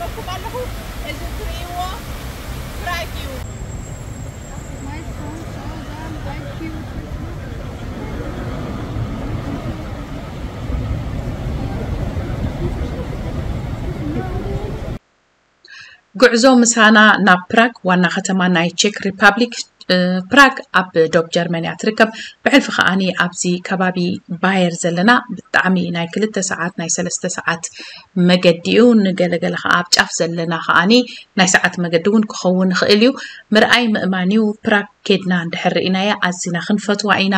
ኣለኹ። እዚ ትርእይዎ ፕራግ እዩ። ጉዕዞ ምሳና ናብ ፕራግ፣ ዋና ከተማ ናይ ቼክ ሪፓብሊክ። ፕራግ ኣብ ዶብ ጀርመን እያ ትርከብ። ብሕልፊ ከዓኒ ኣብዚ ከባቢ ባየር ዘለና ብጣዕሚ ናይ ክልተ ሰዓት ናይ ሰለስተ ሰዓት መገዲ እዩ። ንገለገለ ከዓ ኣብ ጫፍ ዘለና ከዓኒ ናይ ሰዓት መገዲ እውን ክኸውን ይኽእል እዩ። ምርኣይ ምእማን እዩ። ፕራግ ኬድና እንድሕር ርኢናያ ኣዚና ክንፈትዋ ኢና።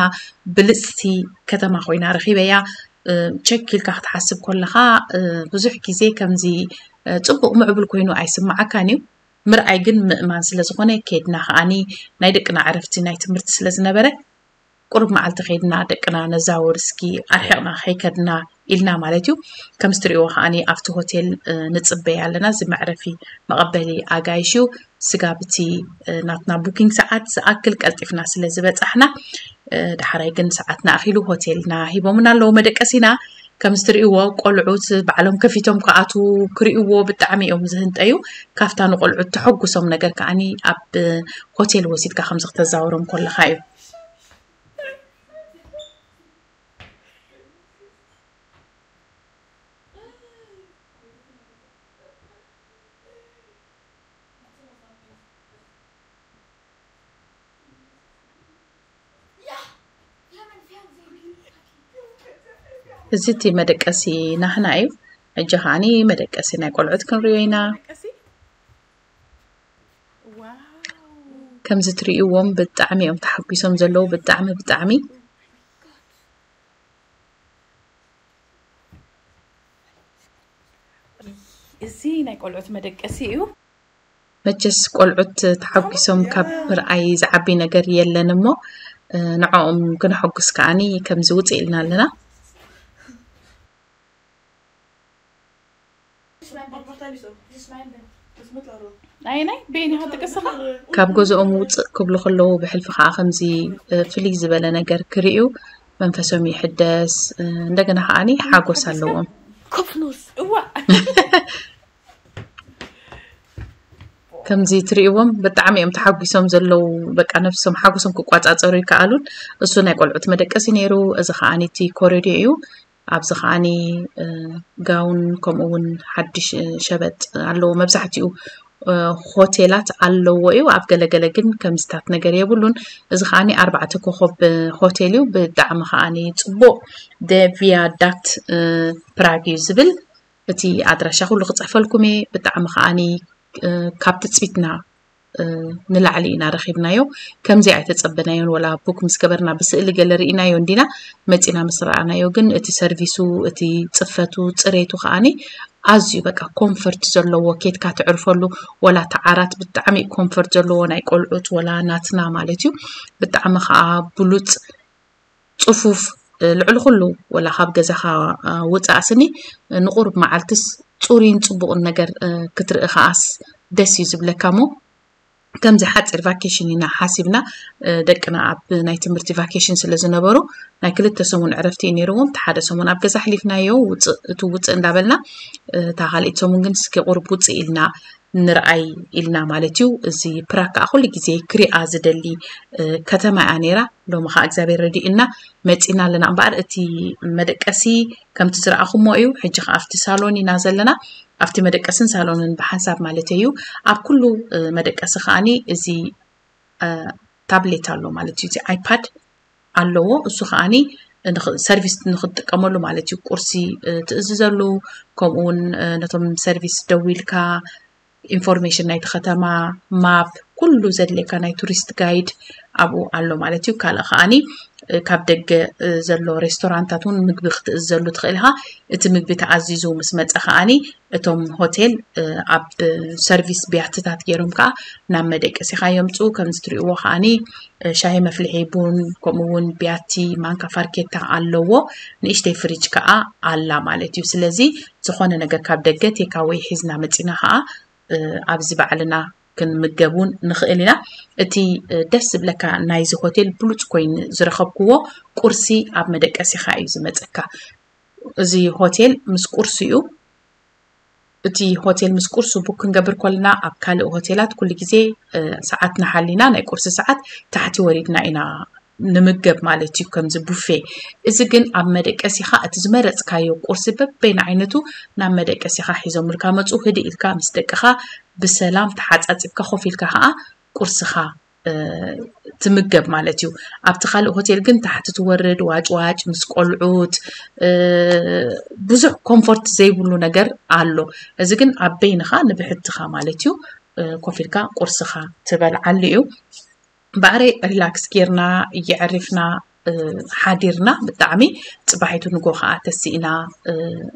ብልፅቲ ከተማ ኮይና ረኺበያ። ቸክ ኢልካ ክትሓስብ ከለኻ ብዙሕ ግዜ ከምዚ ፅቡቕ ምዕቡል ኮይኑ ኣይስምዓካን እዩ። ምርኣይ ግን ምእማን ስለ ዝኾነ ኬድና ከዓኒ ናይ ደቅና ዕረፍቲ ናይ ትምህርቲ ስለ ዝነበረ ቁሩብ መዓልቲ ኬድና ደቅና ነዛውር እስኪ ኣርሒቕና ከይከድና ኢልና ማለት እዩ። ከምዚ ትሪእዎ ከዓኒ ኣብቲ ሆቴል ንፅበይ ኣለና። እዚ መዕረፊ መቐበሊ ኣጋይሽ እዩ። ስጋብ እቲ ናትና ቡኪንግ ሰዓት ዝኣክል ቀልጢፍና ስለ ዝበፃሕና፣ ዳሕራይ ግን ሰዓትና ኣኺሉ ሆቴልና ሂቦምና ኣለዉ መደቀሲና። ከምዚ ትርእይዎ ቆልዑት ባዕሎም ከፊቶም ክኣትዉ ክርእይዎ ብጣዕሚ እዮም ዝህንጠዩ። ካብታ ንቆልዑት ተሐጉሶም ነገር ከዓኒ ኣብ ሆቴል ወሲድካ ከምዚ ክተዛውሮም ከለኻ እዩ። እዚ እቲ መደቀሲ ናህና እዩ። ሕጂ ከዓኒ መደቀሲ ናይ ቆልዑት ክንሪኦ ኢና። ከምዚ ትርእይዎም ብጣዕሚ እዮም ተሓጒሶም ዘለዉ። ብጣዕሚ ብጣዕሚ እዚ ናይ ቆልዑት መደቀሲ እዩ። መቸስ ቆልዑት ተሓጒሶም ካብ ምርኣይ ዝዓቢ ነገር የለን እሞ ንዕኦም ክነሐጉስ ከዓኒ ከምዚ ውፅእ ኢልና ኣለና። ኣየናይ በየን ኢኻ ትቅስኻ? ካብ ገዝኦም ውፅእ ክብሉ ከለዉ ብሕልፊ ከዓ ከምዚ ፍልይ ዝበለ ነገር ክርእዩ መንፈሶም ይሕደስ። እንደገና ከዓኒ ሓጎስ ኣለዎም። ኮፍኑስ እዋ ከምዚ ትርእይዎም ብጣዕሚ እዮም ተሓጒሶም ዘለዉ። በቃ ነብሶም ሓጎሶም ክቋፃፀሩ ይከኣሉን። እሱ ናይ ቆልዑት መደቀሲ ነይሩ። እዚ ከዓኒ እቲ ኮሪዶ እዩ። ኣብዚ ከዓኒ ጋውን ከምኡ እውን ሓድሽ ሸበጥ ኣለዎ። መብዛሕትኡ ሆቴላት ኣለዎ እዩ። ኣብ ገለገለ ግን ከምዚታት ነገር የብሉን። እዚ ከዓኒ ኣርባዕተ ኮኾብ ሆቴል እዩ። ብጣዕሚ ከዓኒ ፅቡቕ። ደ ቪያ ዳት ፕራግ እዩ ዝብል። እቲ ኣድራሻ ኩሉ ክፅሕፈልኩም እየ። ብጣዕሚ ከዓኒ ካብ ትፅቢትና ንላዕሊ ኢና ረኺብናዮ። ከምዚ ኣይተፀበናዮን። ወላ ቡክ ምስ ገበርና ብስእሊ ገለ ርኢናዮ እንዲና መፂና ምስ ረኣናዮ ግን እቲ ሰርቪሱ፣ እቲ ፅፈቱ፣ ፅሬቱ ከዓኒ ኣዝዩ በቃ ኮንፈርት ዘለዎ ኬድካ ትዕርፈሉ። ወላ እቲ ዓራት ብጣዕሚ ኮንፈርት ዘለዎ ናይ ቆልዑት ወላ ናትና ማለት እዩ። ብጣዕሚ ከዓ ብሉፅ ፅፉፍ ልዕሊ ኩሉ ወላ ካብ ገዛኻ ውፃእ ስኒ ንቁሩብ መዓልትስ ፅሩይን ፅቡቕን ነገር ክትርኢ ከዓስ ደስ እዩ ዝብለካ እሞ ከምዚ ሓፂር ቫኬሽን ኢና ሓሲብና ደቅና ኣብ ናይ ትምህርቲ ቫኬሽን ስለ ዝነበሩ ናይ ክልተ ሰሙን ዕረፍቲ እዩ ነይርዎም። እቲ ሓደ ሰሙን ኣብ ገዛ ኣሕሊፍናዮ ውፅእ እቲ ውፅእ እንዳበልና እታ ካልኢት ሰሙን ግን እስኪ ቁሩብ ውፅእ ኢልና ንርኣይ ኢልና ማለት እዩ። እዚ ፕራግ ከዓ ኩሉ ግዜ ክሪኣ ዝደሊ ከተማ እያ ነይራ። ሎሚ ከዓ እግዚኣብሔር ረዲእና መፂና ኣለና እምበኣር እቲ መደቀሲ ከምቲ ዝረኣኹሞ እዩ። ሕጂ ከዓ ኣብቲ ሳሎን ኢና ዘለና። ኣብቲ መደቀስን ሳሎንን ብሓንሳብ ማለት እዩ። ኣብ ኩሉ መደቀሲ ከዓኒ እዚ ታብሌት ኣሎ ማለት እዩ። እዚ ኣይፓድ ኣለዎ። እሱ ከዓኒ ሰርቪስ ንክትጥቀመሉ ማለት እዩ። ቁርሲ ትእዝዘሉ፣ ከምኡ እውን ነቶም ሰርቪስ ደዊልካ ኢንፎርሜሽን ናይቲ ከተማ፣ ማፕ፣ ኩሉ ዘድልየካ ናይ ቱሪስት ጋይድ ኣብኡ ኣሎ ማለት እዩ። ካልእ ከዓኒ ካብ ደገ ዘሎ ሬስቶራንታት እውን ምግቢ ክትእዝዘሉ ትኽእል ኢኻ። እቲ ምግቢ ተኣዚዙ ምስ መፀ ከዓኒ እቶም ሆቴል ኣብ ሰርቪስ ቢያትታት ገይሮም ከዓ ናብ መደቀሲኻ የምፅኡ። ከምዚ ትሪእዎ ከዓኒ ሻሂ መፍልሒ ቡን ከምኡ እውን ቢያቲ ማንካ ፋርኬታ ኣለዎ። ንእሽተይ ፍሪጅ ከዓ ኣላ ማለት እዩ። ስለዚ ዝኾነ ነገር ካብ ደገ ቴካወይ ሒዝና መፂና ከዓ ኣብዚ ባዕልና ክንምገብ እውን ንኽእል ኢና። እቲ ደስ ዝብለካ ናይዚ ሆቴል ብሉፅ ኮይኑ ዝረኸብክዎ ቁርሲ ኣብ መደቀሲኻ እዩ ዝመፀካ። እዚ ሆቴል ምስ ቁርሲኡ እቲ ሆቴል ምስ ቁርሱ ቡክ ክንገብር ከለና ኣብ ካልእ ሆቴላት ኩሉ ግዜ ሰዓትና ሓሊና ናይ ቁርሲ ሰዓት ታሕቲ ወሪድና ኢና ንምገብ ማለት እዩ። ከምዚ ቡፌ እዚ ግን ኣብ መደቀሲኻ እቲ ዝመረፅካዮ ቁርሲ በበይን ዓይነቱ ናብ መደቀሲኻ ሒዞምልካ መፁ። ህድእ ኢልካ ምስ ደቅኻ ብሰላም ተሓፃፂብካ ኮፍ ኢልካ ከዓ ቁርስኻ ትምገብ ማለት እዩ። ኣብቲ ካልእ ሆቴል ግን ታሕቲ ትወርድ ዋጭዋጭ ምስ ቆልዑት ብዙሕ ኮምፎርት ዘይብሉ ነገር ኣሎ። እዚ ግን ኣብ በይንኻ ንብሕትኻ ማለት እዩ ኮፍ ኢልካ ቁርስኻ ትበልዓሉ እዩ። ባዕረይ ሪላክስ ጌርና የዕሪፍና ሓዲርና ብጣዕሚ ፅባሒቱ ንጎ ከዓ ተሲእና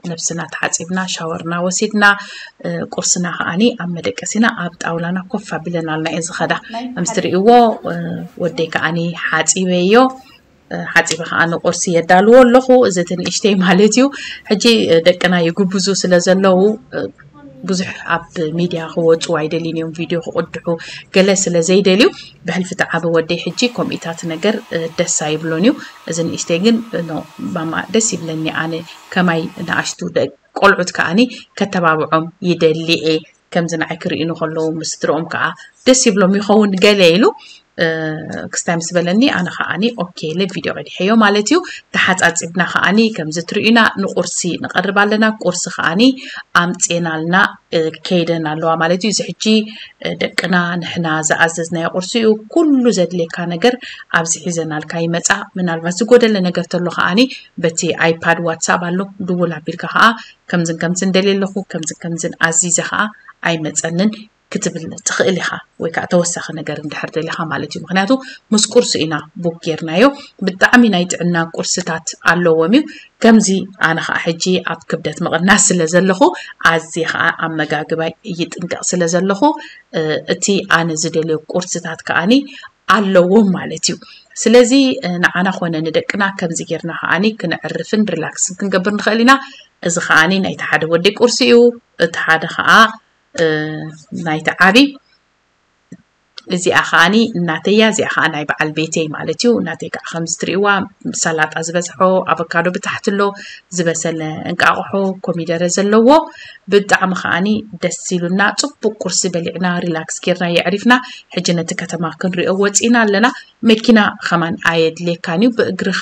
ነብስና ተሓፂብና ሻወርና ወሲድና ቁርስና ከዓኒ ኣብ መደቀሲና ኣብ ጣውላና ኮፍ ኣቢለናልና እየ ዝኸዳ። ከምዚ ትርእይዎ ወደይ ከዓኒ ሓፂበዮ ሓፂበ ከዓ ንቁርሲ የዳልዎ ኣለኹ። እዚ እቲ ንእሽተይ ማለት እዩ። ሕጂ ደቅና ይጉብዙ ስለ ዘለዉ ብዙሕ ኣብ ሚድያ ክወፁ ኣይደልዩን እዮም፣ ቪድዮ ክቕድሑ ገለ ስለ ዘይደልዩ ብሕልፊ እቲ ዓቢ ወደይ ሕጂ ከምኢታት ነገር ደስ ኣይብሎን እዩ። እዚ ንእሽተይ ግን ማማ ደስ ይብለኒ ኣነ ከማይ ንኣሽቱ ቆልዑት ከዓኒ ከተባብዖም ይደሊ እየ። ከምዚ ንዓይ ክርእዩኒ ከለዉ ምስ ስድርኦም ከዓ ደስ ይብሎም ይኸውን ገለ ኢሉ ክስታይ ምስ በለኒ ኣነ ከዓኒ ኦኬ ኢለ ቪድዮ ቀዲሐዮ ማለት እዩ። ተሓፃፂብና ከዓኒ ከምዚ ትርእዩና ንቁርሲ ንቐርብ ኣለና። ቁርሲ ከዓኒ ኣምፅኤናልና ከይደን ኣለዋ ማለት እዩ። እዚ ሕጂ ደቅና ንሕና ዝኣዘዝናዮ ቁርሲ እዩ። ኩሉ ዘድልየካ ነገር ኣብዚ ሒዘናልካ ይመፃ። ምናልባት ዝጎደለ ነገር ተሎ ከዓኒ በቲ ኣይፓድ ዋትሳፕ ኣሎ ድውል ኣቢልካ ከዓ ከምዝን ከምዝን ደልየ ኣለኹ ከምዝን ከምዝን ኣዚዘ ከዓ ኣይመፀንን ክትብል ትኽእል ኢኻ። ወይ ከዓ ተወሳኺ ነገር እንድሕር ደሊኻ ማለት እዩ። ምክንያቱ ምስ ቁርሲ ኢና ቡክ ጌርናዮ። ብጣዕሚ ናይ ጥዕና ቁርስታት ኣለዎም እዩ። ከምዚ ኣነ ከዓ ሕጂ ኣብ ክብደት ምቕናስ ስለ ዘለኹ ኣዝየ ከዓ ኣመጋግባይ ይጥንቀቕ ስለ ዘለኹ እቲ ኣነ ዝደልዮ ቁርስታት ከዓኒ ኣለዎም ማለት እዩ። ስለዚ ንዓና ኮነ ንደቅና ከምዚ ጌርና ከዓኒ ክንዕርፍን ሪላክስን ክንገብር ንኽእል ኢና። እዚ ከዓኒ ናይቲ ሓደ ወዲ ቁርሲ እዩ። እቲ ሓደ ከዓ ናይቲ ዓቢ እዚኣ ከዓኒ እናተያ እዚኣ ከዓ ናይ በዓል ቤተይ ማለት እዩ። እናተይ ከዓ ከምዚ ትርእይዋ ሰላጣ ዝበዝሖ ኣቮካዶ ብታሕቲ ኣሎ ዝበሰለ እንቃቑሖ ኮሚደረ ዘለዎ ብጣዕሚ ከዓኒ ደስ ኢሉና ፅቡቅ ቁርሲ በሊዕና ሪላክስ ጌርና የዕሪፍና። ሕጂ ነቲ ከተማ ክንሪኦ ወፂና ኣለና። መኪና ከማን ኣየድልየካን እዩ ብእግርኻ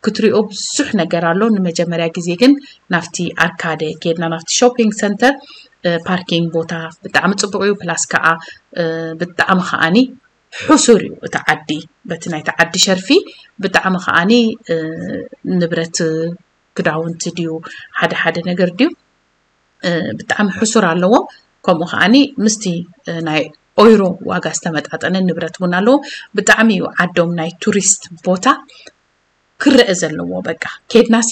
ክትሪኦ ብዙሕ ነገር ኣሎ። ንመጀመርያ ግዜ ግን ናብቲ ኣርካደ ኬድና ናብቲ ሾፒንግ ሰንተር ፓርኪንግ ቦታ ብጣዕሚ ፅቡቅ እዩ። ፕላስ ከዓ ብጣዕሚ ከዓኒ ሕሱር እዩ እቲ ዓዲ በቲ ናይቲ ዓዲ ሸርፊ ብጣዕሚ ከዓኒ ንብረት ክዳውንቲ ድዩ ሓደ ሓደ ነገር ድዩ ብጣዕሚ ሕሱር ኣለዎም። ከምኡ ከዓኒ ምስቲ ናይ ኦይሮ ዋጋ ዝተመጣጠነ ንብረት እውን ኣለዎም። ብጣዕሚ እዩ ዓዶም ናይ ቱሪስት ቦታ ክረአ ዘለዎ። በቃ ኬድናሲ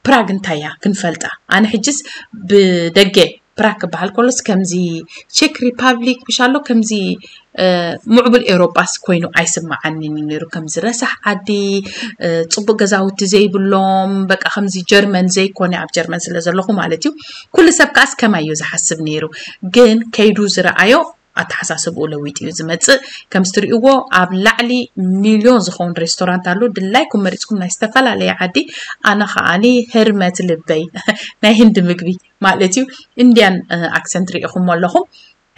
ፕራግ እንታይ እያ ክንፈልጣ። ኣነ ሕጅስ ብደገ ፕራግ ክበሃል ከሎስ ከምዚ ቼክ ሪፓብሊክ ምሽ ኣሎ ከምዚ ምዕቡል ኤውሮጳስ ኮይኑ ኣይስምዓንን እዩ ነይሩ። ከምዚ ረሳሕ ዓዲ፣ ጽቡቕ ገዛውቲ ዘይብሎም፣ በቃ ከምዚ ጀርመን ዘይኮነ ኣብ ጀርመን ስለ ዘለኹ ማለት እዩ። ኩሉ ሰብ ከኣስ ከማይ እዩ ዝሓስብ ነይሩ። ግን ከይዱ ዝረኣዮ ኣተሓሳስብኡ ለዊጡ እዩ ዝመጽእ። ከምዚ ትርእይዎ ኣብ ላዕሊ ሚልዮን ዝኸውን ሬስቶራንት ኣሎ። ድላይኩም መሪጽኩም ናይ ዝተፈላለየ ዓዲ። ኣነ ከኣኒ ህርመት ልበይ ናይ ህንዲ ምግቢ ማለት እዩ ኢንድያን ኣክሰንት ርኢኹሞ ኣለኹም።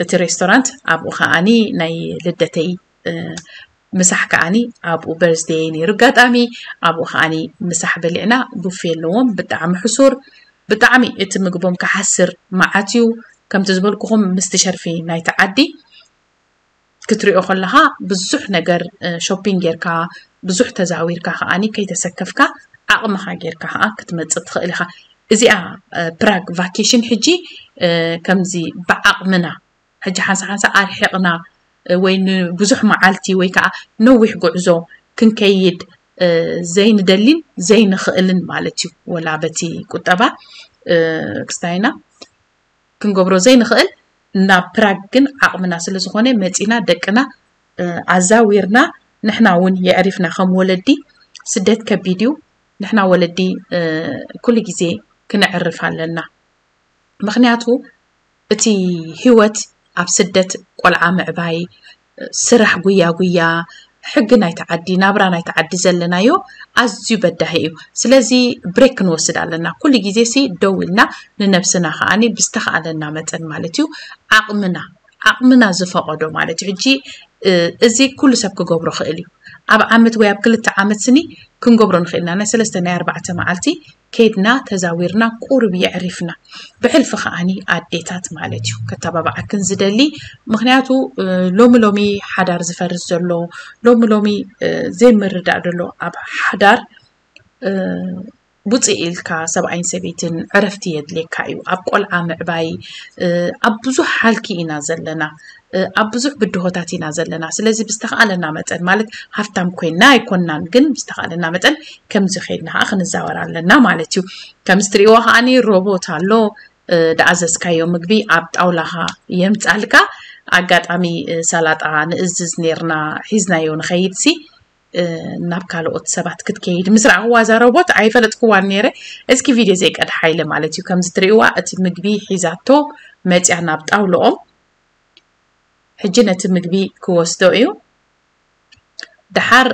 እቲ ሬስቶራንት ኣብኡ ከዓኒ ናይ ልደተይ ምሳሕ ከዓኒ ኣብኡ በርዝደይ ነይሩ ኣጋጣሚ ኣብኡ ከዓኒ ምሳሕ በሊዕና ቡፌ ኣለዎም ብጣዕሚ ሕሱር ብጣዕሚ እቲ ምግቦም ክሓስር መዓት እዩ ከምቲ ዝበልኩኹም ምስቲ ሸርፊ ናይቲ ዓዲ ክትሪኦ ከለኻ ብዙሕ ነገር ሾፒንግ ጌርካ ብዙሕ ተዛዊርካ ከዓኒ ከይተሰከፍካ ዓቕምኻ ጌርካ ከዓ ክትመፅእ ትኽእል ኢኻ። እዚኣ ፕራግ ቫኬሽን ሕጂ ከምዚ ብዓቕምና ሕጂ ሓንሳ ሓንሳ ኣርሒቕና ወይ ንብዙሕ መዓልቲ ወይ ከዓ ነዊሕ ጉዕዞ ክንከይድ ዘይንደሊን ዘይንኽእልን ማለት እዩ። ወላ በቲ ቁጠባ ክስታይና ክንገብሮ ዘይንኽእል ናብ ፕራግ ግን ዓቕምና ስለ ዝኾነ መፂና ደቅና ኣዛዊርና ንሕና እውን የዕሪፍና ከም ወለዲ ስደት ከቢድ እዩ። ንሕና ወለዲ ኩሉ ግዜ ክነዕርፍ ኣለና። ምኽንያቱ እቲ ህይወት ኣብ ስደት ቆልዓ ምዕባይ ስራሕ ጉያ ጉያ ሕጊ ናይቲ ዓዲ፣ ናብራ ናይቲ ዓዲ ዘለናዮ ኣዝዩ በዳሂ እዩ። ስለዚ ብሬክ ክንወስድ ኣለና። ኩሉ ግዜ ሲ ደው ኢልና ንነብስና ከዓኒ ብዝተኻእለና መጠን ማለት እዩ ዓቕምና ዓቕምና ዝፈቐዶ ማለት እዩ። ሕጂ እዚ ኩሉ ሰብ ክገብሮ ክእል እዩ። ኣብ ዓመት ወይ ኣብ ክልተ ዓመት ስኒ ክንገብሮ ንኽእል ኢና። ናይ ሰለስተ ናይ ኣርባዕተ መዓልቲ ከይድና ተዛዊርና ቁሩብ የዕሪፍና። ብሕልፊ ከዓኒ ኣዴታት ማለት እዩ ከተባብዓክን ዝደሊ። ምኽንያቱ ሎሚ ሎሚ ሓዳር ዝፈርስ ዘሎ፣ ሎሚ ሎሚ ዘይምርዳእ ዘሎ ኣብ ሓዳር ውፅእ ኢልካ ሰብኣይን ሰበይትን ዕረፍቲ የድልየካ እዩ። ኣብ ቆልዓ ምዕባይ፣ ኣብ ብዙሕ ሃልኪ ኢና ዘለና፣ ኣብ ብዙሕ ብድሆታት ኢና ዘለና። ስለዚ ብዝተኻእለና መጠን ማለት ሃፍታም ኮይና ኣይኮናን፣ ግን ብዝተኻእለና መጠን ከምዚ ከይድና ከዓ ክንዛወር ኣለና ማለት እዩ። ከምዚ ትሪእዎ ከዓኒ ሮቦት ኣሎ፣ ደኣዘዝካዮ ምግቢ ኣብ ጣውላኻ የምፃልካ። ኣጋጣሚ ሰላጣ ንእዝዝ ነርና ሒዝናዮ ንኸይድ ሲ ናብ ካልኦት ሰባት ክትከይድ ምስ ረኣኽዋ እዛ ሮቦት ኣይፈለጥክዋን ነይረ። እስኪ ቪድዮ ዘይቀድሓ ኢለ ማለት እዩ። ከምዚ ትሪእዋ እቲ ምግቢ ሒዛቶ መፅያ ናብ ጣውልኦም። ሕጂ ነቲ ምግቢ ክወስዶ እዩ። ደሓር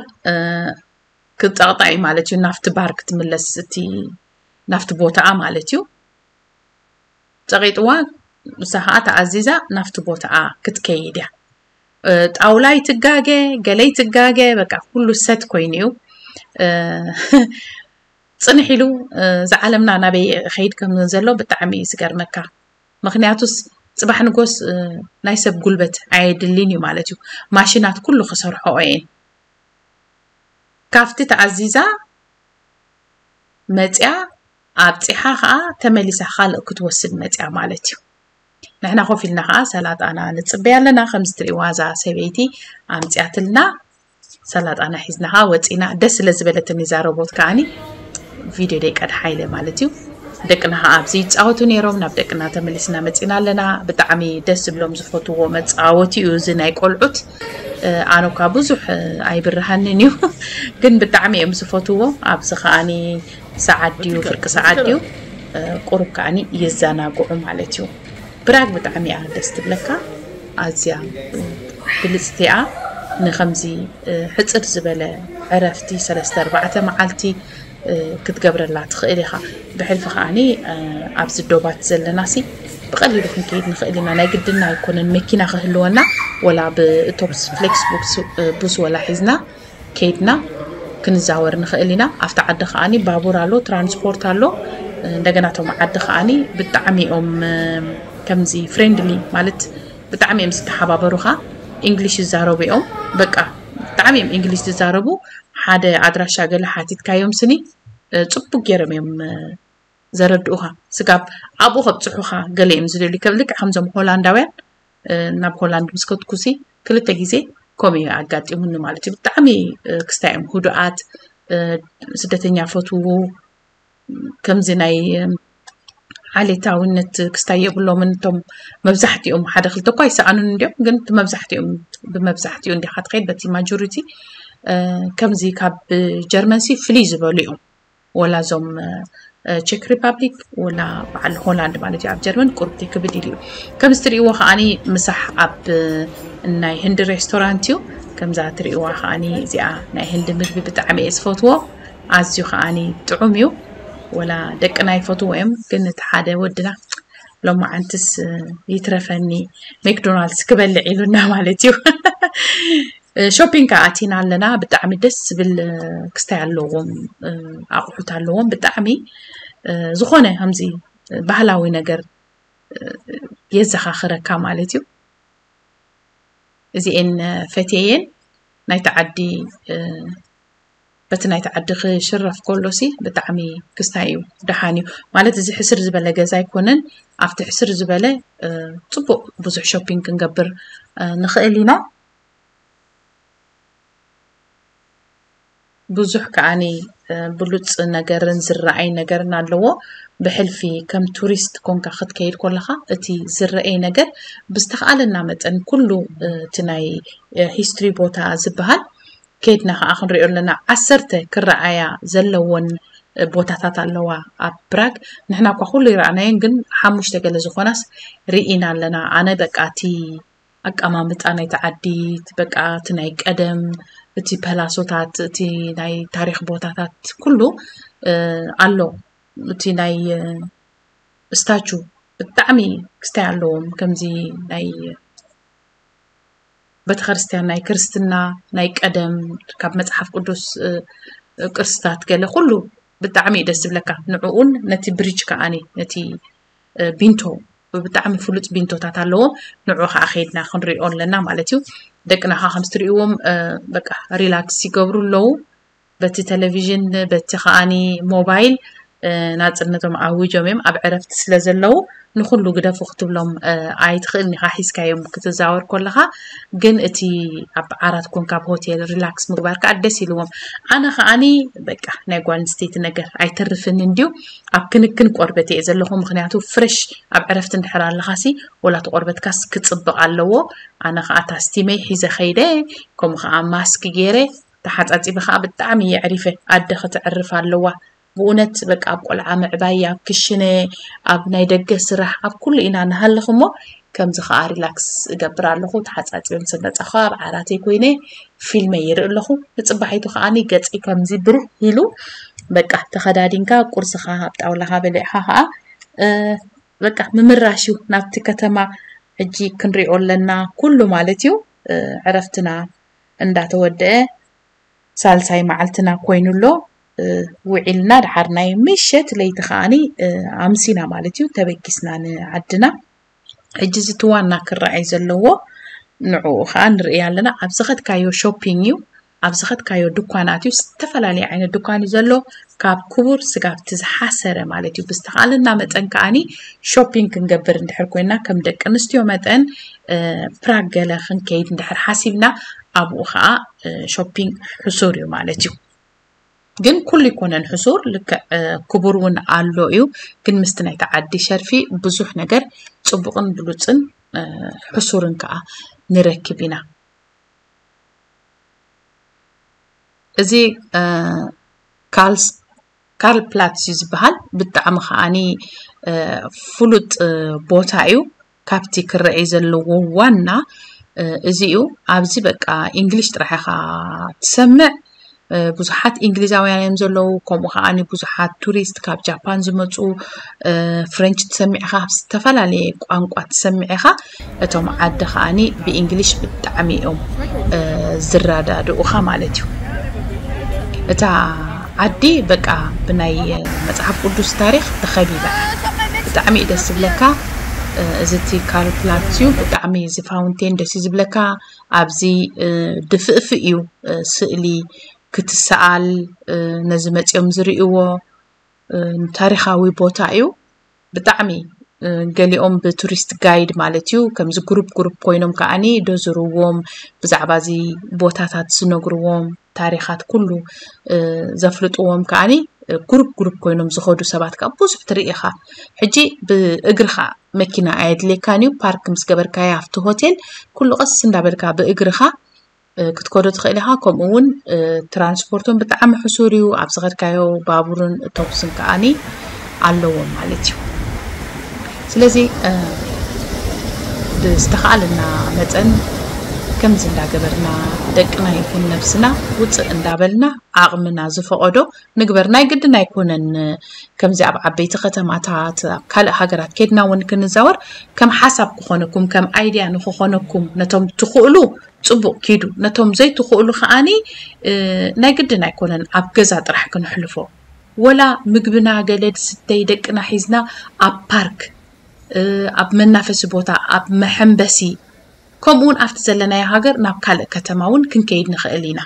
ክፀቕጣ እዩ ማለት እዩ። ናብቲ ባር ክትምለስ እቲ ናብቲ ቦታኣ ማለት እዩ። ፀቂጥዋ እሳ ከዓ ተኣዚዛ ናብቲ ቦታኣ ክትከይድ እያ። ጣውላይ ትጋገ ገለይ ትጋገ በቃ ኩሉ ሰት ኮይኑ እዩ። ፅንሕ ኢሉ እዚ ዓለምና ናበይ ከይድ ከም ዘሎ ብጣዕሚ እዩ ዝገርመካ። ምክንያቱስ ፅባሕ ንጎስ ናይ ሰብ ጉልበት ኣየድልን እዩ ማለት እዩ። ማሽናት ኩሉ ክሰርሖኦ እየን። ካብቲ ተኣዚዛ መፅያ ኣብፂሓ ከዓ ተመሊሳ ካልእ ክትወስድ መፅያ ማለት እዩ። ንሕና ኮፍ ኢልና ከዓ ሰላጣና ንፅበያ ኣለና። ከምዚ ትሪእዋ እዛ ሰበይቲ ኣምፅያትልና ሰላጣና ሒዝና ከዓ ወፂና። ደስ ስለ ዝበለትኒ እዛ ሮቦት ከዓኒ ቪድዮ ደይቀድሓ ኢለ ማለት እዩ። ደቅና ከዓ ኣብዚ ይፃወቱ ነይሮም። ናብ ደቅና ተመሊስና መፂና ኣለና። ብጣዕሚ ደስ ዝብሎም ዝፈትዎ መፃወቲ እዩ እዚ ናይ ቆልዑት። ኣነ እኳ ብዙሕ ኣይብርሃንን እዩ ግን ብጣዕሚ እዮም ዝፈትዎ። ኣብዚ ከዓኒ ሰዓት ድዩ ፍርቂ ሰዓት ድዩ ቁሩብ ከዓኒ የዘናግዑ ማለት እዩ። ብራግ ብጣዕሚ እያ ደስ ትብለካ። ኣዝያ ብልፅቲ እያ። ንከምዚ ሕፅር ዝበለ ዕረፍቲ ሰለስተ ኣርባዕተ መዓልቲ ክትገብረላ ትኽእል ኢኻ። ብሕልፊ ከዓኒ ኣብዚ ዶባት ዘለና ሲ ብቐሊሉ ክንከይድ ንኽእል ኢና። ናይ ግድና ኣይኮነን መኪና ክህልወና፣ ወላ ብእቶብስ ፍሌክስ ቡስ ወላ ሒዝና ከይድና ክንዛወር ንኽእል ኢና። ኣብቲ ዓዲ ከዓኒ ባቡር ኣሎ፣ ትራንስፖርት ኣሎ። እንደገና እቶም ዓዲ ከዓኒ ብጣዕሚ እዮም ከምዚ ፍሬንድሊ ማለት ብጣዕሚ እዮም ዝተሓባበሩኻ። ኢንግሊሽ ይዛረቡ እዮም። በቃ ብጣዕሚ እዮም ኢንግሊሽ ዝዛረቡ። ሓደ ኣድራሻ ገለ ሓቲትካዮም ስኒ ጽቡቅ ገይሮም እዮም ዘረድኡኻ። ስጋብ ኣብኡ ከብጽሑኻ ገለ እዮም ዝደልዩ። ከም ልክዕ ከምዞም ሆላንዳውያን ናብ ሆላንድ ምስ ከድኩሲ ክልተ ግዜ ከምኡ እዩ ኣጋጢሙኒ ማለት እዩ። ብጣዕሚ ክስታይ እዮም ህዱኣት፣ ስደተኛ ፈትዉ፣ ከምዚ ናይ ዓሌታዊነት ክስታይ የብሎምን። እቶም መብዛሕትኦም ሓደ ክልተ እኳ ይሰኣኑን እንዲዮም፣ ግን እቲ መብዛሕትኦም ብመብዛሕትኡ እንዲኻ ትኸይድ በቲ ማጆሪቲ። ከምዚ ካብ ጀርመን ሲ ፍልይ ዝበሉ እዮም። ወላ እዞም ቼክ ሪፓብሊክ ወላ በዓል ሆላንድ ማለት እዩ። ኣብ ጀርመን ቁርብቲ ክብድ ኢሉ እዩ። ከምዚ ትርእይዎ ከዓኒ ምሳሕ ኣብ ናይ ህንዲ ሬስቶራንት እዩ። ከምዛ ትርእይዋ ከዓኒ እዚኣ ናይ ህንዲ ምግቢ ብጣዕሚ እየ ዝፈትዎ። ኣዝዩ ከዓኒ ጥዑም እዩ። ወላ ደቅና ይፈትዎ እዮም፣ ግን እቲ ሓደ ወድና ሎማዓንትስ ይትረፈኒ ሜክዶናልድስ ክበልዕ ኢሉና ማለት እዩ። ሾፒንግ ከዓ ኣቲና ኣለና። ብጣዕሚ ደስ ዝብል ክስታይ ኣለዎም፣ ኣቑሑት ኣለዎም። ብጣዕሚ ዝኾነ ከምዚ ባህላዊ ነገር የዘኻኽረካ ማለት እዩ። እዚኤን ፈትየየን ናይቲ ዓዲ በቲ ናይቲ ዓዲ ክሽረፍ ከሎሲ ብጣዕሚ ክስታይ እዩ፣ ደሓን እዩ ማለት። እዚ ሕስር ዝበለ ገዛ ኣይኮነን። ኣብቲ ሕስር ዝበለ ጽቡቕ ብዙሕ ሾፒንግ ክንገብር ንኽእል ኢና። ብዙሕ ከዓኒ ብሉፅ ነገርን ዝረኣይ ነገርን ኣለዎ። ብሕልፊ ከም ቱሪስት ኮንካ ክትከይድ ከለኻ እቲ ዝረኣይ ነገር ብዝተኻእለና መጠን ኩሉ እቲ ናይ ሂስትሪ ቦታ ዝበሃል ከይድና ከዓ ክንሪኦ ኣለና። ዓሰርተ ክረኣያ ዘለዎን ቦታታት ኣለዋ ኣብ ፕራግ። ንሕና እኳ ኩሉ ይረኣናዮን ግን ሓሙሽተ ገለ ዝኾናስ ርኢና ኣለና። ኣነ በቃ እቲ ኣቀማምጣ ናይቲ ዓዲ፣ በቃ እቲ ናይ ቀደም፣ እቲ ፐላሶታት፣ እቲ ናይ ታሪኽ ቦታታት ኩሉ ኣሎ። እቲ ናይ ስታቹ ብጣዕሚ ክስታይ ኣለዎም። ከምዚ ናይ ቤተክርስትያን ናይ ክርስትና ናይ ቀደም ካብ መጽሓፍ ቅዱስ ቅርስታት ገለ ኩሉ ብጣዕሚ እዩ ደስ ዝብለካ። ንዕኡን ነቲ ብሪጅ ከዓኒ ነቲ ቢንቶ ብጣዕሚ ፍሉጥ ቢንቶታት ኣለዎም። ንዑ ከዓ ከይድና ክንሪኦ ኣለና ማለት እዩ። ደቅና ከዓ ከምዚ ትሪእዎም በቃ ሪላክስ ይገብሩ ኣለዉ። በቲ ቴሌቪዥን በቲ ከዓኒ ሞባይል ናፅነቶም ኣዊጆም እዮም። ኣብ ዕረፍቲ ስለ ዘለዉ ንኩሉ ግደፉ ክትብሎም ኣይትኽእልን ኢኻ። ሒዝካዮም ክትዛወር ከለኻ ግን እቲ ኣብ ዓራት ኮንካ ኣብ ሆቴል ሪላክስ ምግባር ከዓ ደስ ኢልዎም። ኣነ ከዓኒ በቃ ናይ ጓል ኣንስተይቲ ነገር ኣይተርፍን እንድዩ። ኣብ ክንክን ቆርበት እየ ዘለኹ። ምክንያቱ ፍሬሽ ኣብ ዕረፍቲ እንድሕር ኣለኻሲ ወላ እቲ ቆርበትካስ ክፅብቕ ኣለዎ። ኣነ ከዓ ታስቲመይ ሒዘ ከይደ፣ ከምኡ ከዓ ማስክ ገይረ ተሓፃፂበ ከዓ ብጣዕሚ የዕሪፈ። ኣደ ከተዕርፍ ኣለዋ። ብእውነት በቃ ኣብ ቆልዓ ምዕባይ፣ ኣብ ክሽነ፣ ኣብ ናይ ደገ ስራሕ፣ ኣብ ኩሉ ኢና ንሃልኽ እሞ ከምዚ ከዓ ሪላክስ እገብር ኣለኹ። ተሓፃፂበ ምስ መፃኹ ኣብ ዓራተይ ኮይነ ፊልመይ ይርኢ ኣለኹ። ንፅባሒቱ ከዓኒ ገፀይ ከምዚ ብርህ ኢሉ በቃ ተኸዳዲንካ ቁርስኻ ኣብ ጣውላኻ በሊዕኻ ከዓ በቃ ምምራሽ እዩ ናብቲ ከተማ። ሕጂ ክንሪኦ ኣለና ኩሉ ማለት እዩ። ዕረፍትና እንዳተወደአ ሳልሳይ መዓልትና ኮይኑ ኣሎ። ውዒልና ድሓር ናይ ምሸት ለይቲ ከዓኒ ኣምሲና ማለት እዩ ተበጊስና ንዓድና። ሕጂ እዚ እቲ ዋና ክረኣይ ዘለዎ ንዕኡ ከዓ ንርኢ ኣለና። ኣብ ዝኸድካዮ ሾፒንግ እዩ፣ ኣብ ዝኸድካዮ ድኳናት እዩ። ዝተፈላለየ ዓይነት ድኳን እዩ ዘሎ፣ ካብ ክቡር ስጋብቲ ዝሓሰረ ማለት እዩ። ብዝተኻለና መጠን ከዓኒ ሾፒንግ ክንገብር እንድሕር ኮይና ከም ደቂ ኣንስትዮ መጠን ፕራግ ገለ ክንከይድ እንድሕር ሓሲብና ኣብኡ ከዓ ሾፒንግ ሕሱር እዩ ማለት እዩ። ግን ኩሉ ይኮነን ሕሱር፣ ልክዕ ክቡር እውን ኣሎ እዩ። ግን ምስቲ ናይቲ ዓዲ ሸርፊ ብዙሕ ነገር ፅቡቕን ብሉፅን ሕሱርን ከዓ ንረክብ ኢና። እዚ ካልስ ካርል ፕላትስ እዩ ዝበሃል። ብጣዕሚ ከዓኒ ፍሉጥ ቦታ እዩ። ካብቲ ክረኣይ ዘለዎ ዋና እዚ እዩ። ኣብዚ በቃ ኢንግሊሽ ጥራሕ ኢኻ ትሰምዕ። ብዙሓት እንግሊዛውያን እዮም ዘለዉ። ከምኡ ከዓኒ ብዙሓት ቱሪስት ካብ ጃፓን ዝመፁ፣ ፍሬንች ትሰምዕ ኢኻ፣ ዝተፈላለየ ቋንቋ ትሰምዕ ኢኻ። እቶም ዓዲ ከዓኒ ብእንግሊሽ ብጣዕሚ እዮም ዝረዳድኡኻ ማለት እዩ። እታ ዓዲ በቃ ብናይ መፅሓፍ ቅዱስ ታሪኽ ተኸቢባ እያ። ብጣዕሚ እዩ ደስ ዝብለካ። እዚ እቲ ካርል ፕላትስ እዩ። ብጣዕሚ እዚ ፋውንቴን ደስ እዩ ዝብለካ። ኣብዚ ድፍእፍእ እዩ ስእሊ ክትሰኣል፣ ነዚ መፂኦም ዝርእይዎ ታሪኻዊ ቦታ እዩ። ብጣዕሚ ገሊኦም ብቱሪስት ጋይድ ማለት እዩ፣ ከምዚ ግሩፕ ግሩፕ ኮይኖም ከዓኒ ደዝርዎም፣ ብዛዕባ እዚ ቦታታት ዝነግርዎም፣ ታሪኻት ኩሉ ዘፍልጥዎም ከዓኒ ግሩፕ ግሩፕ ኮይኖም ዝኸዱ ሰባት ከዓ ብዙሕ ትርኢ ኢኻ። ሕጂ ብእግርኻ መኪና ኣየድልየካን እዩ። ፓርክ ምስ ገበርካዮ ኣብቲ ሆቴል ኩሉ ቀስ እንዳበልካ ብእግርኻ ክትከዶ ትኽእል ኢኻ። ከምኡ እውን ትራንስፖርትን ብጣዕሚ ሕሱር እዩ። ኣብ ዝኸድካዮ ባቡርን ቶክስን ከዓኒ ኣለዎም ማለት እዩ። ስለዚ ብዝተኻእለና መጠን ከምዚ እንዳገበርና ደቅና ይኹን ነብስና ውፅእ እንዳበልና ዓቕምና ዝፈቐዶ ንግበር። ናይ ግድን ኣይኮነን ከምዚ ኣብ ዓበይቲ ከተማታት ኣብ ካልእ ሃገራት ከድና እውን ክንዛወር ከም ሓሳብ ክኾነኩም ከም ኣይድያ ንክኾነኩም ነቶም ትኽእሉ ፅቡቕ ኪዱ፣ ነቶም ዘይትኽእሉ ከዓኒ ናይ ግድን ኣይኮነን ኣብ ገዛ ጥራሕ ክንሕልፎ። ወላ ምግብና ገለ ድስተይ ደቅና ሒዝና ኣብ ፓርክ፣ ኣብ መናፈሲ ቦታ፣ ኣብ መሐንበሲ፣ ከምኡውን ኣብቲ ዘለናዮ ሃገር ናብ ካልእ ከተማ እውን ክንከይድ ንኽእል ኢና።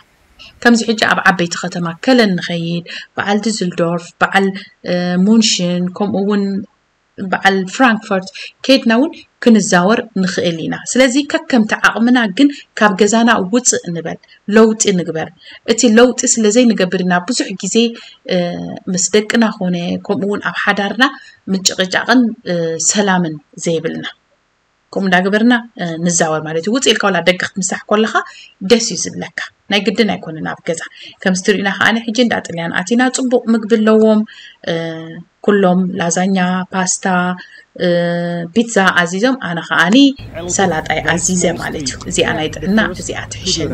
ከምዚ ሕጂ ኣብ ዓበይቲ ከተማ ከለን ንኸይድ፣ በዓል ድዝልዶርፍ፣ በዓል ሙንሽን፣ ከምኡ እውን በዓል ፍራንክፈርት ከይድና እውን ክንዛወር ንኽእል ኢና። ስለዚ ከከምቲ ዓቕምና ግን ካብ ገዛና ውፅእ ንበል፣ ለውጢ ንግበር። እቲ ለውጢ ስለ ዘይንገብር ኢና ብዙሕ ግዜ ምስ ደቅና ኮነ ከምኡ እውን ኣብ ሓዳርና ምጭቕጫቕን ሰላምን ዘይብልና። ከምኡ እንዳገበርና ንዛወር ማለት እዩ። ውፅእ ኢልካ ዋላ ደገ ክትምሳሕ ከለኻ ደስ እዩ ዝብለካ። ናይ ግድን ኣይኮነን ኣብ ገዛ። ከምዚ ትሪእና ከዓኒ ሕጂ እንዳ ጥልያን ኣቲና፣ ፅቡቕ ምግቢ ኣለዎም። ኩሎም ላዛኛ፣ ፓስታ፣ ፒዛ ኣዚዞም፣ ኣነ ከዓኒ ሰላጣይ ኣዚዘ ማለት እዩ። እዚኣ ናይ ጥዕና እዚኣ ትሕሸኒ።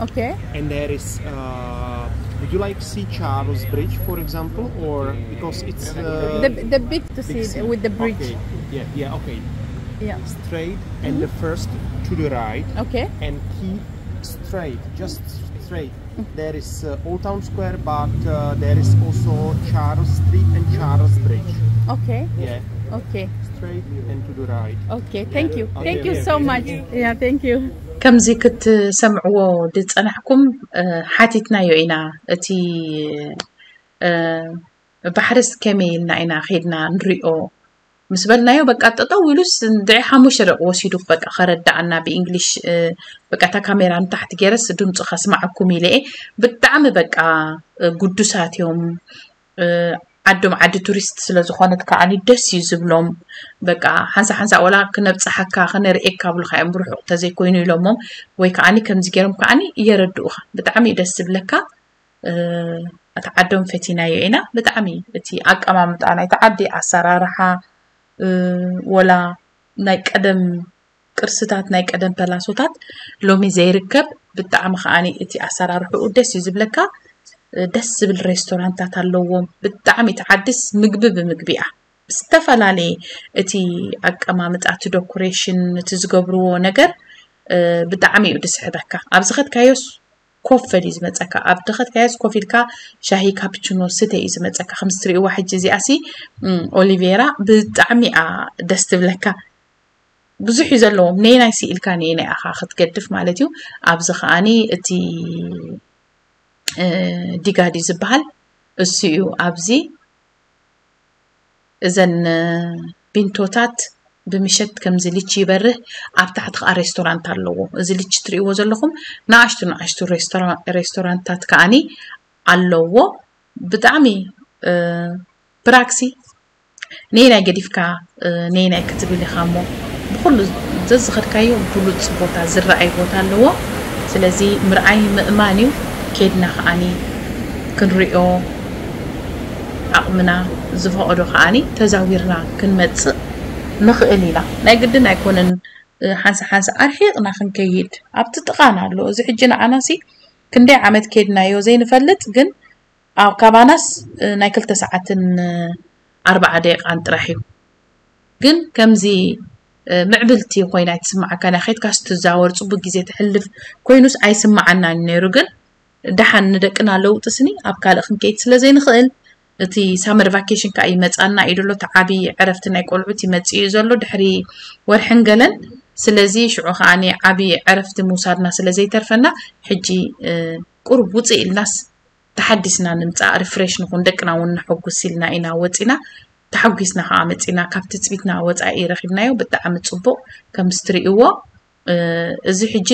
Okay. And there is, uh, would you like to see Charles Bridge, for example, or because it's uh, the the big to see big it with the bridge. Okay. Yeah, yeah, okay. Yeah. Straight and the first to the right. Okay. And keep straight, just straight. There is uh, Old Town Square, but uh, there is also Charles Street and Charles Bridge. Okay. Yeah. Okay. Straight and to the right. Okay. Thank you. Okay, thank you okay, so okay. Much. Yeah. Thank you. ከምዚ ክትሰምዕዎ ዝጸናሕኩም ሓቲትናዮ ኢና። እቲ ባሕርስ ከመይ ኢልና ኢና ኸድና ንሪኦ ምስ በልናዮ፣ በቃ ጠጠው ኢሉስ እንድዒ ሓሙሽተ ደቂ ወሲዱ በቃ ከረዳኣና ብእንግሊሽ። በቃ እታ ካሜራ ንታሕቲ ገይረስ ድምፁ ከስማዓኩም ኢለ እየ። ብጣዕሚ በቃ ግዱሳት እዮም። ዓዶም ዓዲ ቱሪስት ስለዝኾነት ከዓኒ ደስ እዩ ዝብሎም። በቃ ሓንሳ ሓንሳ ወላ ክነብፅሓካ ክነርእየካ ብሉካ እዮም ብርሑቕ ተዘይኮይኑ ኢሎሞም፣ ወይ ከዓኒ ከምዚ ገይሮም ከዓኒ እየረድኡኻ። ብጣዕሚ እዩ ደስ ዝብለካ። እቲ ዓዶም ፈቲናዮ ኢና። ብጣዕሚ እቲ ኣቀማምጣ ናይቲ ዓዲ ኣሰራርሓ፣ ወላ ናይ ቀደም ቅርስታት ናይ ቀደም ፐላሶታት ሎሚ ዘይርከብ። ብጣዕሚ ከዓኒ እቲ ኣሰራርሕኡ ደስ እዩ ዝብለካ። ደስ ዝብል ሬስቶራንታት ኣለዎም። ብጣዕሚ እቲ ዓድስ ምግቢ ብምግቢ እያ። ዝተፈላለየ እቲ ኣቀማምጣ፣ እቲ ዶኮሬሽን፣ እቲ ዝገብርዎ ነገር ብጣዕሚ እዩ ዝስሕበካ። ኣብዚ ከድካዮስ ኮፍ በል እዩ ዝመፀካ። ኣብ ድኸት ካየስ ኮፍ ኢልካ ሻሂ ካፕችኖ ስተ እዩ ዝመፀካ። ከምዚ ትሪእዋ ሕጂ እዚኣሲ ኦሊቬራ ብጣዕሚ እያ ደስ ትብለካ። ብዙሕ እዩ ዘለዎም። ነየናይ ስኢልካ ነየናይ ኣኻ ክትገድፍ ማለት እዩ። ኣብዚ ከዓኒ እቲ ዲጋዲ ዝበሃል እሱ እዩ። ኣብዚ እዘን ቢንቶታት ብምሸት ከምዚ ልቺ ይበርህ። ኣብ ታሕቲ ከዓ ሬስቶራንት ኣለዎ። እዚ ልቺ ትሪእዎ ዘለኹም ንኣሽቱ ንኣሽቱ ሬስቶራንታት ከዓኒ ኣለዎ። ብጣዕሚ ፕራክሲ ነይናይ ገዲፍካ ነይናይ ክትብል ኢኻ እሞ ብኩሉ ዘዝኸድካዮ ብሉፅ ቦታ ዝረኣይ ቦታ ኣለዎ። ስለዚ ምርኣይ ምእማን እዩ። ኬድና ከዓኒ ክንሪኦ ዓቕምና ዝፈቐዶ ከዓኒ ተዛዊርና ክንመፅእ ንኽእል ኢና። ናይ ግድን ኣይኮነን ሓንሳ ሓንሳ ኣርሒቕና ክንከይድ ኣብቲ ጥቓና ኣሎ። እዚ ሕጂ ንዓናሲ ክንደይ ዓመት ኬድናዮ ዘይንፈልጥ፣ ግን ኣብ ካባናስ ናይ ክልተ ሰዓትን ኣርባዓ ደቂቃን ጥራሕ እዩ። ግን ከምዚ ምዕብልቲ ኮይና ኣይትስምዓካን እያ። ኬድካስ ትዛወር፣ ፅቡቅ ግዜ ተሕልፍ ኮይኑስ ኣይስምዓናን ነይሩ። ግን ደሓን ንደቅና ለውጢ ስኒ ኣብ ካልእ ክንከይድ ስለ ዘይንኽእል፣ እቲ ሳመር ቫኬሽን ከዓ ይመፃና እዩ ዘሎ። እቲ ዓብዪ ዕረፍቲ ናይ ቆልዑት ይመፅእ እዩ ዘሎ ድሕሪ ወርሕን ገለን። ስለዚ ሽዑ ከዓ ዓብዪ ዕረፍቲ ምውሳድና ስለ ዘይተርፈና ሕጂ ቁሩብ ውፅእ ኢልናስ ተሓዲስና ንምፃእ፣ ሪፍሬሽ ንኹን፣ ደቅና እውን ነሐጉስ ኢልና ኢና ወፂና። ተሓጒስና ከዓ መፂና። ካብ ትፅቢትና ወፃኢ ረኺብናዮ። ብጣዕሚ ፅቡቕ። ከምዚ ትሪእዎ እዚ ሕጂ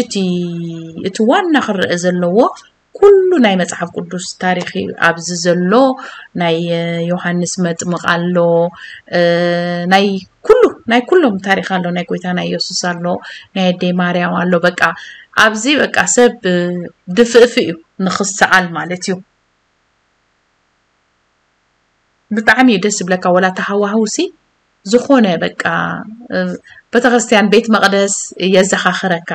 እቲ ዋና ክረአ ዘለዎ ኩሉ ናይ መፅሓፍ ቅዱስ ታሪክ እዩ። ኣብዚ ዘሎ ናይ ዮሃንስ መጥምቕ ኣሎ፣ ናይ ኩሉ ናይ ኩሎም ታሪክ ኣሎ፣ ናይ ጎይታ ናይ የሱስ ኣሎ፣ ናይ ኣደይ ማርያም ኣሎ። በቃ ኣብዚ በቃ ሰብ ድፍእፍ እዩ ንክሰኣል ማለት እዩ። ብጣዕሚ እዩ ደስ ዝብለካ። ወላ ተሃዋህውሲ ዝኾነ በቃ ቤተክርስትያን ቤት መቕደስ የዘኻኽረካ።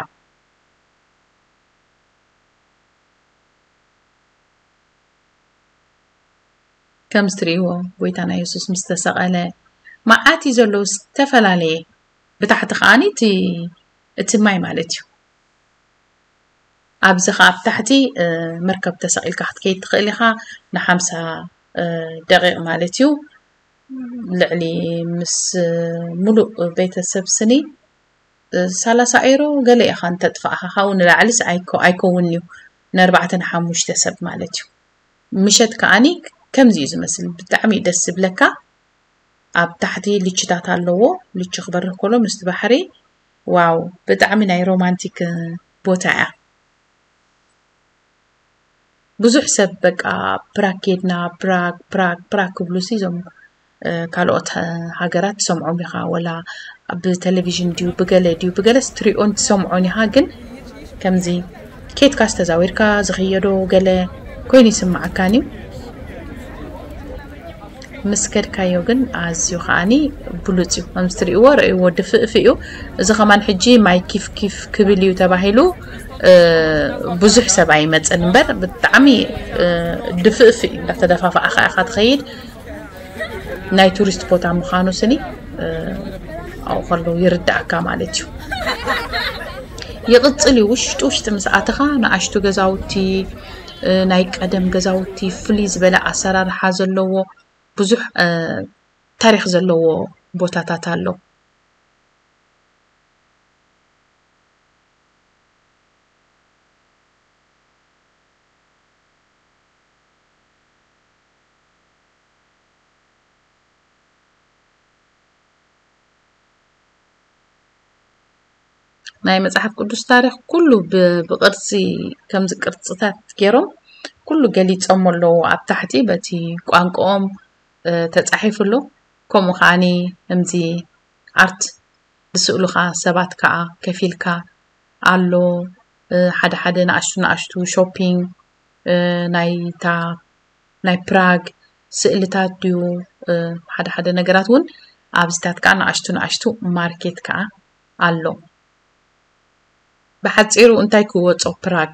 ከምዚ ትርእይዎ ጎይታና የሱስ ምስ ተሰቐለ መዓት እዩ ዘለዉ ዝተፈላለየ። ብታሕቲ ከዓኒ እቲ እቲ ማይ ማለት እዩ። ኣብዚ ከኣ ኣብ ታሕቲ መርከብ ተሰቒልካ ክትከይድ ትኽእል ኢኻ። ንሓምሳ ደቂቕ ማለት እዩ። ልዕሊ ምስ ሙሉእ ቤተሰብ ስኒ ሰላሳ ኤሮ ገለ ኢኻ እንተጥፋእኻ፣ ካብኡ ንላዕሊስ ኣይኮ- ኣይከውን እዩ። ንኣርባዕተ ንሓሙሽተ ሰብ ማለት እዩ። ምሸት ከዓኒ ከምዚ እዩ ዝመስል። ብጣዕሚ እዩ ደስ ዝብለካ። ኣብ ታሕቲ ልችታት ኣለዎ። ልቺ ክበርህ ከሎ ምስቲ ባሕሪ፣ ዋው፣ ብጣዕሚ ናይ ሮማንቲክ ቦታ እያ። ብዙሕ ሰብ በቃ ፕራግ ኬድና፣ ፕራግ ፕራግ ፕራግ ክብሉ ሲ እዞም ካልኦት ሃገራት ትሰምዖም ኢኻ፣ ወላ ብቴሌቪዥን ድዩ ብገለ ድዩ ብገለስ ትሪኦን ትሰምዖን ኢኻ። ግን ከምዚ ኬድካስ ተዛዊርካ ዝኽየዶ ገለ ኮይኑ ይስምዓካን እዩ። ምስ ከድካዮ ግን ኣዝዩ ከዓኒ ብሉጽ እዩ። ከምዚ ትርእይዎ፣ ረእይዎ፣ ድፍእፍ እዩ። እዚ ከማን ሕጂ ማይ ኪፍ ኪፍ ክብል እዩ ተባሂሉ፣ እ፣ ብዙሕ ሰብ ኣይመጽን እምበር፣ ብጣዕሚ፣ እ፣ ድፍእፍ እዩ። እንዳተደፋፋእኻ ኢኻ ትኸይድ። ናይ ቱሪስት ቦታ ምዃኑ ስኒ፣ እ፣ ኣብኡ ከለዉ ይርድኣካ ማለት እዩ። ይቕጽል እዩ። ውሽጢ ውሽጢ ምስ ኣተኻ ንኣሽቱ ገዛውቲ፣ እ፣ ናይ ቀደም ገዛውቲ፣ ፍልይ ዝበለ ኣሰራርሓ ዘለዎ፣ ብዙሕ፣ እ፣ ታሪኽ ዘለዎ ቦታታት ኣሎ። ናይ መጽሓፍ ቅዱስ ታሪኽ ኩሉ ብ-፣ ብቕርጺ፣ ከምዚ ቅርጽታት ገይሮም ኩሉ ገሊጾም ኣለዉ። ኣብ ታሕቲ በቲ ቋንቋኦም፣ እ፣ ተጻሒፉ ኣሎ። ከምኡ ከዓኒ ከምዚ ኣርት ዝስእሉኻ ሰባት ከኣ ከፊልካ ኣሎ። እ፣ ሓደ ሓደ ንኣሽቱ ንኣሽቱ ሾፒንግ፣ እ፣ ናይታ ናይ ፕራግ ስእልታት ድዩ፣ እ፣ ሓደ ሓደ ነገራት እውን ኣብዚታት ከኣ ንኣሽቱ ንኣሽቱ ማርኬት ከኣ ኣሎ። ብሓጺሩ እንታይ ክወጾ ፕራግ?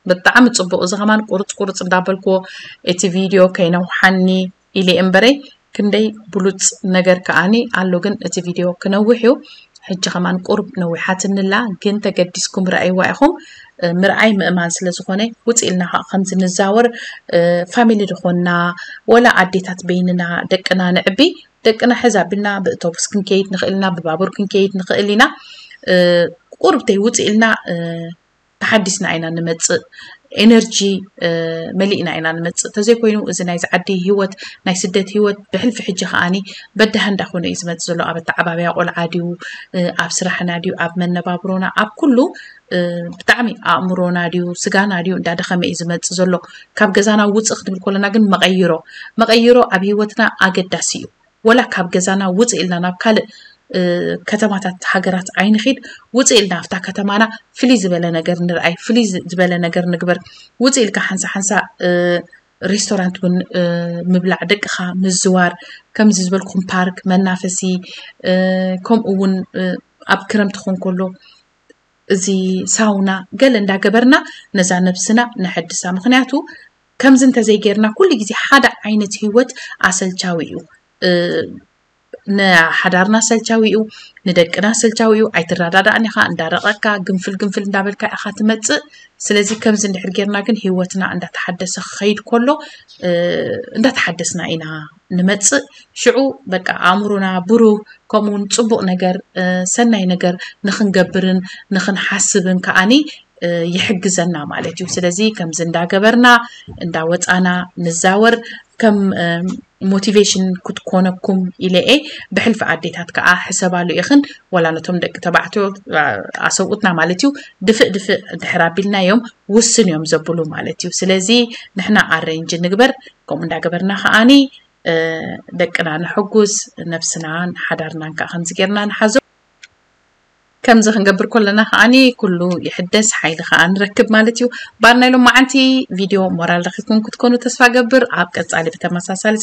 ብጣዕሚ ጽቡቕ። እዚ ከማን ቁርጽ ቁርጽ እንዳበልክዎ እቲ ቪድዮ ከይነውሓኒ ኢለ እምበረይ፣ ክንደይ ብሉጽ ነገር ከኣኒ ኣሎ፣ ግን እቲ ቪድዮ ክነውሕ እዩ። ሕጂ ከማን ቁሩብ ነዊሓትንላ፣ ግን ተገዲስኩም ረኣይዋ ኢኹም። እ፣ ምርኣይ ምእማን ስለ ዝኾነ፣ ውጽእ ኢልና ከ-፣ ከምዚ ንዛወር፣ እ፣ ፋሚሊ ዝኾንና፣ ወላ ኣዴታት በይንና ደቅና ንዕቢ፣ ደቅና ሕዝ ኣቢልና ብእቶብስ ክንከይድ ንኽእል ኢና፣ ብባቡር ክንከይድ ንኽእል ኢና። እ፣ ቁሩብ ተይ ውጽእ ኢልና፣ እ፣ ተሓዲስና ኢና ንመጽእ፣ ኤነርጂ፣ እ፣ መሊእና ኢና ንመጽእ። ተዘይኮይኑ እዚ ናይዚ ዓዲ ህይወት፣ ናይ ስደት ህይወት ብሕልፊ ሕጂ ከኣኒ በዳህ እንዳኾነ እዩ ዝመጽእ ዘሎ። ኣብ ኣተዓባብያ ቆልዓ ድዩ፣ እ፣ ኣብ ስራሕና ድዩ፣ ኣብ መነባብሮና፣ ኣብ ኩሉ፣ እ፣ ብጣዕሚ ኣእምሮና ድዩ፣ ስጋና ድዩ እንዳደኸመ እዩ ዝመጽእ ዘሎ። ካብ ገዛና ውጽእ ክትብል ከለና ግን መቐይሮ፣ መቐይሮ ኣብ ህይወትና ኣገዳሲ እዩ። ወላ ካብ ገዛና ውጽእ ኢልና ናብ ካልእ፣ እ፣ ከተማታት ሃገራት ኣይንኺድ። ውጽእ ኢልና ኣብታ ከተማና ፍልይ ዝበለ ነገር ንርኣይ፣ ፍልይ ዝ-፣ ዝበለ ነገር ንግበር። ውጽእ ኢልካ ሓንሳ ሓንሳ፣ እ፣ ሬስቶራንት እውን፣ እ፣ ምብላዕ፣ ደቅኻ ምዝዋር፣ ከምዚ ዝበልኩም ፓርክ፣ መናፈሲ፣ እ፣ ከምኡ እውን፣ እ፣ ኣብ ክረምቲ ክኾን ከሎ እዚ ሳውና ገለ እንዳገበርና ነዛ ነብስና ነሐድሳ። ምኽንያቱ ከምዚ እንተዘይጌርና ኩሉ ግዜ ሓደ ዓይነት ህይወት ኣሰልቻዊ እዩ። እ፣ ንሓዳርና ኣሰልቻዊ እዩ፣ ንደቅና ኣሰልቻዊ እዩ። ኣይትረዳዳእን ኢኻ፣ እንዳረቐካ ግንፍል ግንፍል እንዳበልካ ኢኻ ትመጽእ። ስለዚ ከምዚ እንድሕር ጌርና ግን ህይወትና እንዳተሓደሰ ክኸይድ ከሎ፣ እ፣ እንዳተሓደስና ኢና ንመጽእ። ሽዑ በቃ ኣእምሮና ብሩህ፣ ከምኡውን ጽቡቕ ነገር፣ እ፣ ሰናይ ነገር ንኽንገብርን ንኽንሓስብን ከኣኒ፣ እ፣ ይሕግዘና ማለት እዩ። ስለዚ ከምዚ እንዳገበርና እንዳወጻና ንዛወር፣ ከም፣ እ፣ ሞቲቬሽን ክትኮነኩም ኢለ እየ። ብሕልፊ ኣዴታት ከኣ ሕሰባሉ ኢኽን፣ ወላ ነቶም ደቂ ተባዕትዮ፣ እ፣ ኣሰብኡትና ማለት እዩ፣ ድፍእ ድፍእ እንድሕር ኣቢልናዮም ውስን እዮም ዘብሉ ማለት እዩ። ስለዚ ንሕና ኣሬንጅ ንግበር፣ ከምኡ እንዳገበርና ከኣኒ፣ እ፣ ደቅና ንሕጉዝ፣ ነብስናን ሓዳርናን ከኣ ከምዚ ጌርና ንሓዞ። ከምዚ ክንገብር ከለና ከኣኒ ኩሉ ይሕደስ፣ ሓይሊ ከኣ ንረክብ ማለት እዩ። ባር ናይ ሎማዓንቲ ቪድዮ ሞራል ረኺብኩም ክትኮኑ ተስፋ ገብር። ኣብ ቀጻሊ ብተመሳሳሊ